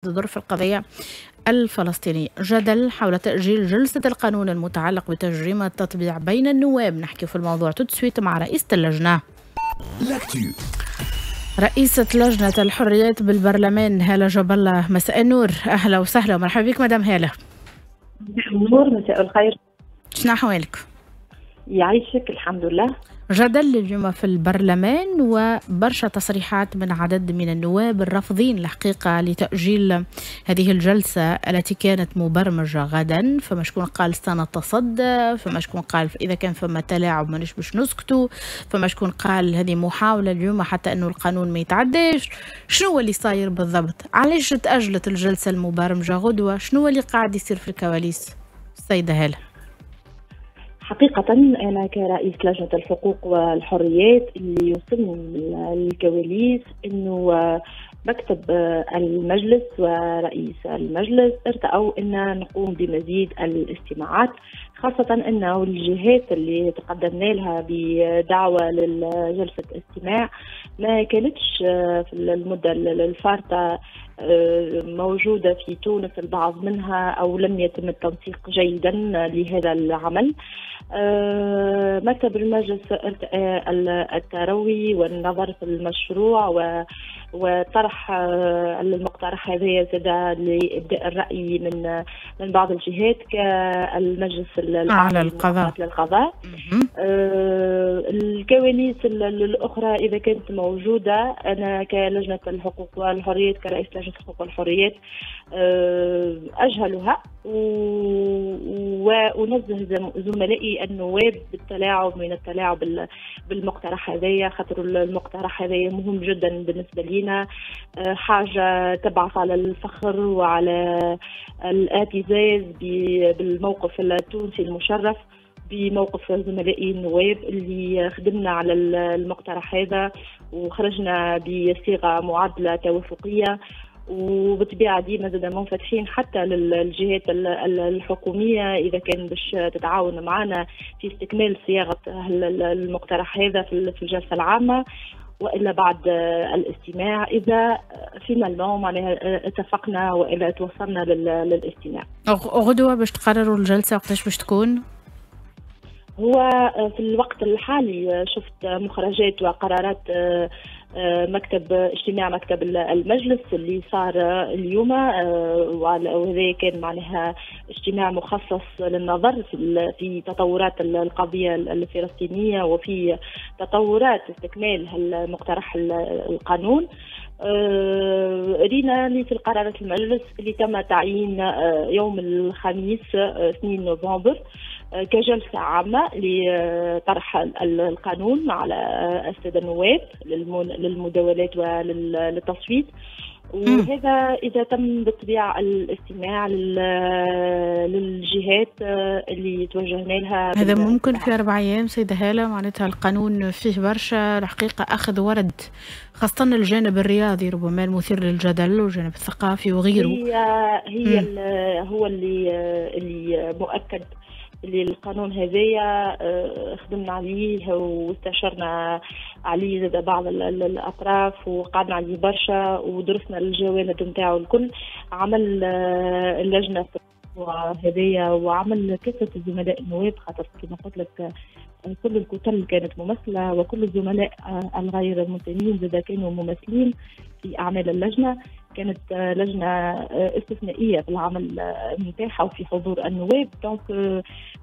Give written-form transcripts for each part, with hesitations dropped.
ظرف القضية الفلسطينية. جدل حول تأجيل جلسة القانون المتعلق بتجريم التطبيع بين النواب. نحكي في الموضوع tout de suite مع رئيسة اللجنة. رئيسة لجنة الحريات بالبرلمان هالة جاب الله، مساء النور، أهلا وسهلا ومرحبا بك مدام هالة. مساء النور، مساء الخير. شنو أحوالك؟ يعيشك، الحمد لله. جدل اليوم في البرلمان وبرشا تصريحات من عدد من النواب الرافضين الحقيقة لتأجيل هذه الجلسة التي كانت مبرمجة غدا. فما شكون قال سنتصدى، فما شكون قال إذا كان فما تلاعب مانيش باش نسكتوا، فما شكون قال هذه محاولة اليوم حتى أنه القانون ما يتعداش. شنو اللي صاير بالضبط؟ علاش تأجلت الجلسة المبرمجة غدوة؟ شنو اللي قاعد يصير في الكواليس السيدة هالة؟ حقيقة أنا كرئيس لجنة الحقوق والحريات اللي يوصلني من الكواليس أنه مكتب المجلس ورئيس المجلس ارتأوا أن نقوم بمزيد الاستماعات، خاصة أنه الجهات اللي تقدمنا لها بدعوة لجلسة استماع ما كانتش في المدة الفارطة موجودة في تونس، البعض منها أو لم يتم التنسيق جيدا لهذا العمل. مكتب المجلس التروي والنظر في المشروع وطرح المقترح هذا زاد لإبداء الرأي من بعض الجهات كالمجلس الأعلى للقضاء. الكواليس الأخرى إذا كانت موجودة، أنا كلجنة الحقوق والحريات كرئيس لجنة الحقوق والحريات أجهلها وأنزه زملائي النواب بالتلاعب من التلاعب بالمقترح هذايا، خاطر المقترح هذايا مهم جدا بالنسبة لنا، حاجة تبعث على الفخر وعلى الاعتزاز بالموقف التونسي المشرف، بموقف زملائي النواب اللي خدمنا على المقترح هذا وخرجنا بصيغة معادلة توافقية، وبالطبيعة ديما زاد منفتحين حتى للجهات الحكومية إذا كان باش تتعاون معنا في استكمال صياغة المقترح هذا في الجلسة العامة وإلا بعد الاستماع، إذا finalement معناها اتفقنا وإلا توصلنا للاستماع. غدوة باش تقرروا الجلسة وقتاش باش تكون؟ هو في الوقت الحالي شفت مخرجات وقرارات مكتب اجتماع مكتب المجلس اللي صار اليوم، وهذا كان معناها اجتماع مخصص للنظر في تطورات القضية الفلسطينية وفي تطورات استكمال المقترح القانون. رينا اللي في قرارات المجلس اللي تم تعيين يوم الخميس 2 نوفمبر كجلسة عامة لطرح القانون على السادة النواب للمداولات وللتصويت، وهذا إذا تم بالطبيعة الاستماع للجهات اللي توجهنا لها. هذا ممكن في 4 أيام سيدة هالة؟ معناتها القانون فيه برشا الحقيقة أخذ ورد، خاصة الجانب الرياضي ربما المثير للجدل والجانب الثقافي وغيره. هي هو اللي مؤكد اللي القانون هذايا خدمنا عليه واستشرنا عليه زاد بعض الاطراف وقعدنا عليه برشا ودرسنا الجوانب نتاعو الكل. عمل اللجنة هذايا وعمل كافة الزملاء النواب، خاطر كما قلت لك كل الكتل كانت ممثلة وكل الزملاء الغير المنتمين زاد كانوا ممثلين في اعمال اللجنة. كانت لجنة استثنائية في العمل نتاعها وفي حضور النواب، donc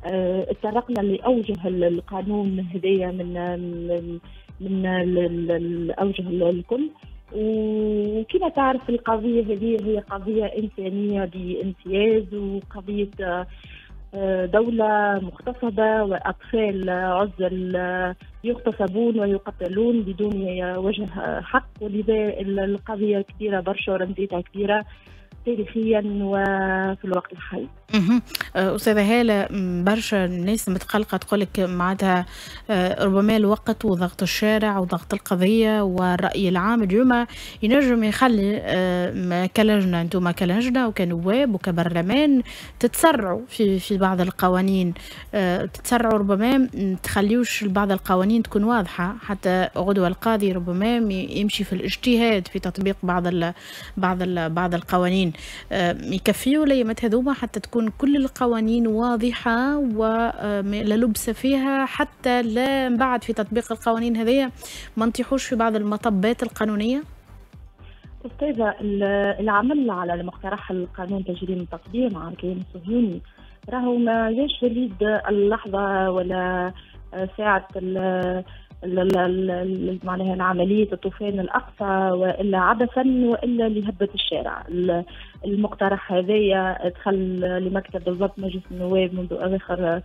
اتطرقنا لاوجه القانون هذايا من الاوجه الكل. وكما تعرف القضية هذه هي قضية انسانيه بامتياز، وقضية دولة مغتصبة وأطفال عزل يغتصبون ويقتلون بدون وجه حق، ولذا القضية كبيرة برشا ورمزيتها كبيرة. تاريخيا وفي الوقت الحالي. أستاذة هالة، برشا الناس متقلقة تقولك معناتها ربما الوقت وضغط الشارع وضغط القضية والرأي العام اليوم ينجم يخلي كلجنة، أنتم كلجنة وكنواب وكبرلمان تتسرعوا في بعض القوانين، تتسرعوا ربما تخليوش بعض القوانين تكون واضحة حتى غدوة القاضي ربما يمشي في الاجتهاد في تطبيق بعض القوانين. يكفيوا ليامات هذوما حتى تكون كل القوانين واضحة ولا لبس فيها، حتى لا من بعد في تطبيق القوانين هذيا ما نطيحوش في بعض المطبات القانونية؟ أستاذة، العمل على المقترح القانون تجريم التطبيع مع الكيان الصهيوني راهو ما جاش وليد اللحظة ولا ساعة معناها العملية الطوفان الأقصى وإلا عبثا وإلا لهبة الشارع. المقترح هذايا دخل لمكتب بالضبط مجلس النواب منذ أواخر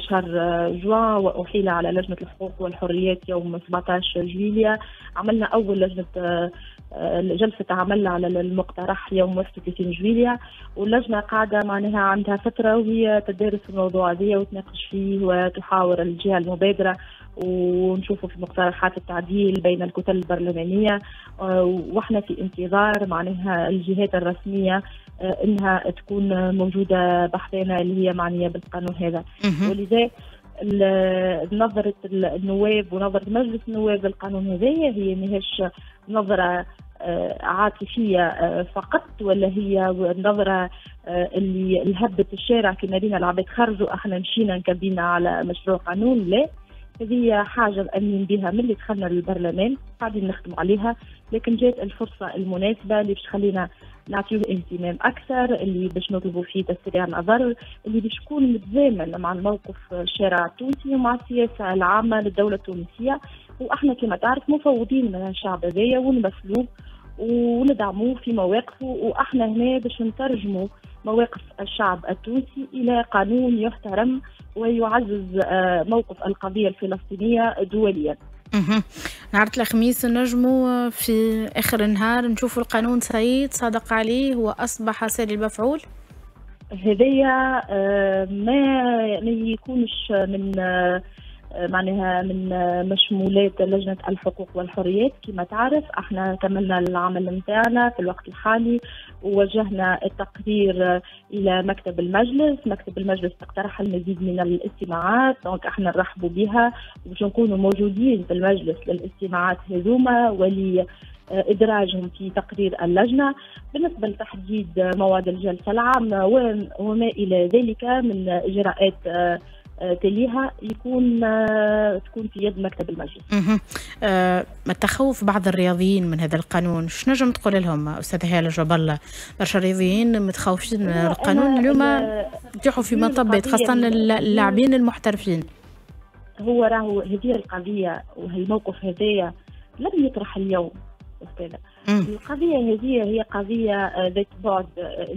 شهر جوان وأحيل على لجنة الحقوق والحريات يوم 17 جويلية. عملنا أول لجنة جلسة عمل على المقترح يوم 31 جويلية، واللجنة قاعدة معناها عندها فترة وهي تدارس الموضوع هذايا وتناقش فيه وتحاور الجهة المبادرة ونشوفوا في مقترحات التعديل بين الكتل البرلمانية، واحنا في انتظار معناها الجهات الرسمية انها تكون موجودة بحثنا اللي هي معنية بالقانون هذا. ولذا نظرة النواب ونظرة مجلس النواب للقانون هذايا هي ماهيش نظرة عاطفية فقط، ولا هي نظرة اللي الهبة الشارع كما رينا العباد خرجوا احنا مشينا نكبينا على مشروع قانون. لا، هذه حاجة مأمنين بها من اللي دخلنا للبرلمان، قاعدين نخدموا عليها، لكن جات الفرصة المناسبة اللي باش تخلينا نعطيوه اهتمام أكثر، اللي باش نطلبوا فيه تسريع نظر، اللي باش يكون متزامن مع الموقف الشارع التونسي ومع السياسة العامة للدولة التونسية. وإحنا كما تعرف مفوضين من الشعب هذايا ونمثلوه وندعموه في مواقفه، وإحنا هنا باش نترجموا مواقف الشعب التونسي إلى قانون يحترم ويعزز موقف القضية الفلسطينية دوليا. نهار الخميس نجموا في آخر النهار نشوفوا القانون سيد صادق عليه وأصبح ساري المفعول؟ هذايا ما يكونش من معناها من مشمولات لجنة الحقوق والحريات. كما تعرف احنا كملنا العمل نتاعنا في الوقت الحالي ووجهنا التقرير الى مكتب المجلس، مكتب المجلس اقترح المزيد من الاستماعات، donc احنا نرحبوا بها وباش نكونوا موجودين في المجلس للاستماعات هذوما ولي إدراجهم في تقرير اللجنة. بالنسبة لتحديد موعد الجلسة العامة وما إلى ذلك من إجراءات تليها يكون تكون في يد مكتب المجلس. التخوف بعض الرياضيين من هذا القانون، شنو نجم تقول لهم أستاذة هالة جاب الله؟ برشا رياضيين متخوفين من القانون اليوم، يطيحوا في مطبات خاصة اللاعبين المحترفين. هو راهو هذه القضية وهالموقف هذايا لم يطرح اليوم أستاذة. القضية هذه هي قضية ذات بعد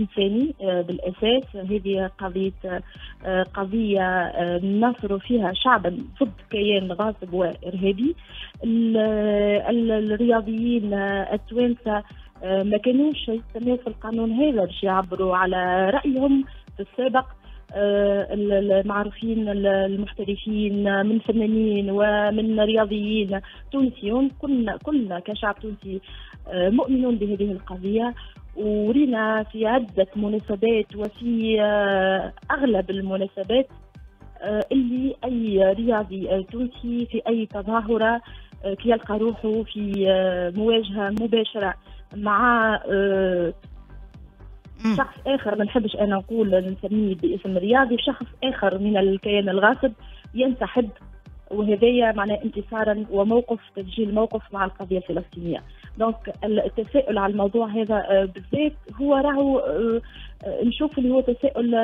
إنساني بالأساس، هذه قضية نصر فيها شعبا ضد كيان غاصب وإرهابي. الرياضيين التوانسة ما كانوش يستناو في القانون هذا باش يعبروا على رأيهم في السابق. المعروفين المحترفين من فنانين ومن رياضيين تونسيون، كلنا كشعب تونسي مؤمنون بهذه القضية، ورينا في عدة مناسبات وفي أغلب المناسبات اللي أي رياضي تونسي في أي تظاهرة كي يلقى روحه في مواجهة مباشرة مع شخص آخر، ما نحبش أنا نقول نسميه باسم رياضي، شخص آخر من الكيان الغاصب ينسحب، وهذايا معناه انتصارا وموقف تسجيل موقف مع القضية الفلسطينية. donc التساؤل على الموضوع هذا بالذات هو راهو نشوف اللي هو تساؤل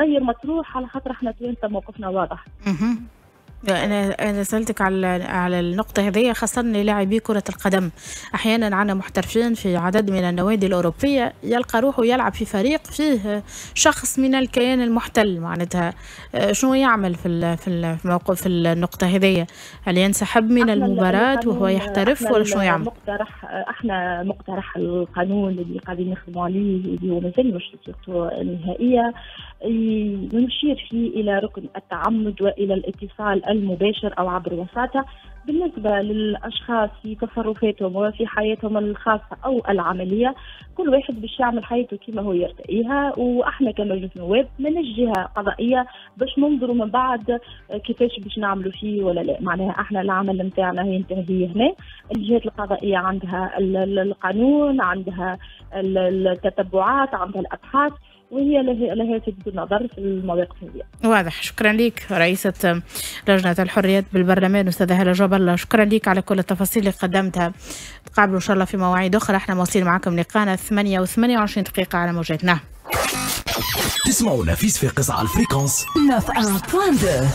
غير مطروح، على خاطر احنا توانسة موقفنا واضح. أنا سألتك على النقطة هذه خاصة للاعبي كرة القدم. أحيانا عندنا محترفين في عدد من النوادي الأوروبية يلقى روحه يلعب في فريق فيه شخص من الكيان المحتل، معناتها شنو يعمل في الموقف في النقطة هذه؟ هل ينسحب من المباراة وهو يحترف ولا شنو يعمل؟ احنا مقترح القانون اللي قاعدين نخدموا عليه اللي هو مازال مش صيغته النهائية نشير فيه إلى ركن التعمد وإلى الاتصال المباشر أو عبر وساطة بالنسبة للأشخاص في تصرفاتهم وفي حياتهم الخاصة أو العملية. كل واحد باش يعمل حياته كما هو يرتئيها، وإحنا كمجلس نواب من الجهة قضائية باش ننظروا من بعد كيفاش باش نعملوا فيه ولا لا. معناها احنا العمل نتاعنا ينتهي هنا، الجهات القضائية عندها القانون، عندها التتبعات، عندها الأبحاث، وهي لها سد النظر في المواقف هذه. واضح. شكرا لك رئيسة لجنة الحريات بالبرلمان أستاذة هالة جاب الله، شكرا لك على كل التفاصيل اللي قدمتها. تقابلوا إن شاء الله في مواعيد أخرى. احنا مواصلين معكم لقانا 8:28 على موجاتنا. تسمعونا في صفاقس على ال fréquence 91.2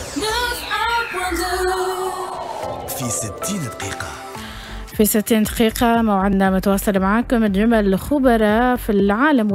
في 60 دقيقة. في 60 دقيقة موعدنا متواصل معاكم اليوم الخبراء في العالم.